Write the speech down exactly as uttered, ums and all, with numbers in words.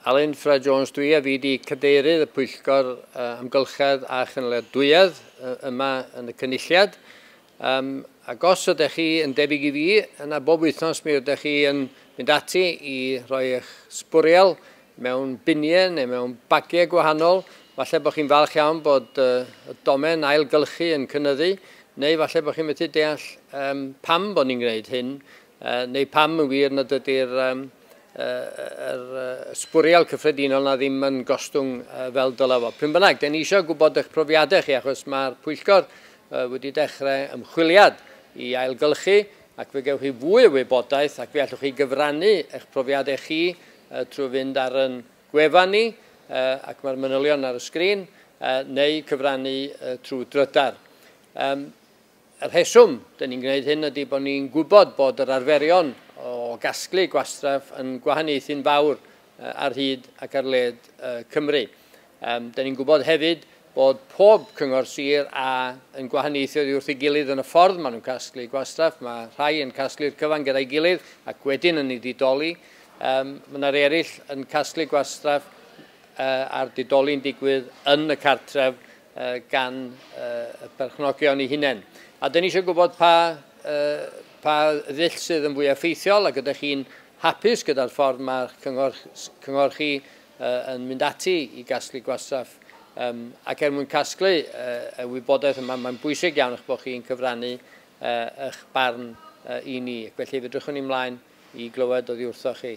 Alun Ffred Jones dwi a fi di cadeirydd y Pwyllgor uh, Amgylchedd a Chynaliadwyedd uh, yma yn y Cynulliad. Um, ac os ydych chi yn debyg i fi, yna bob wythnos mi ydych chi yn mynd ati i roi eich sbwriel mewn biniau neu mewn bagiau gwahanol. Falle bod chi'n falch iawn bod uh, y domen ailgylchu yn cynyddu, neu falle bod chi'n methu deall um, pam bod ni'n gwneud hyn, uh, neu pam yn wir nad ydy'r um, yr sbwriel cyffredinol na ddim yn gostwng fel dylai fo. Pryn bynnag, den ni eisiau gwybod eich profiadau chi, achos mae'r pwyllgor wedi dechrau ymchwiliad i ailgylchu, ac fe gewch chi fwy o wybodaeth ac fe allwch chi gyfrannu eich profiadau chi trwy fynd ar yn gwefan ni, ac mae'r manylion ar y sgrin, neu cyfrannu trwy drydar. Y rheswm dyn ni'n gwneud hyn ydy bod ni'n gwybod bod yr arferion o gasglu gwastraff yn gwahaniaethu'n fawr ar hyd ac ar led Cymru. Um, dyn ni'n gwybod hefyd bod pob cyngor sir a yn gwahaniaethu oddi wrth ei gilydd yn y ffordd maen nhw'n casglu gwastraff. Mae rhai yn casglu'r cyfan gyda'i gilydd ac wedyn yn ei didoli. Um, mae yna eraill yn casglu gwastraff uh, a'r didoli'n digwydd yn y cartref uh, gan uh, y perchnogion eu hunain. A dyn ni eisiau gwybod pa, uh, pa ddull sydd yn fwy effeithiol ac ydych chi'n hapus gyda'r ffordd mae'r cyngor, cyngor chi uh, yn mynd ati i gasglu gwastraff. Um, ac er mwyn casglu uh, y wybodaeth yma, mae'n bwysig iawn eich bod chi'n cyfrannu uh, eich barn uh, i ni. Ac felly fedrwch ni ymlaen i glywed oddi wrthoch chi.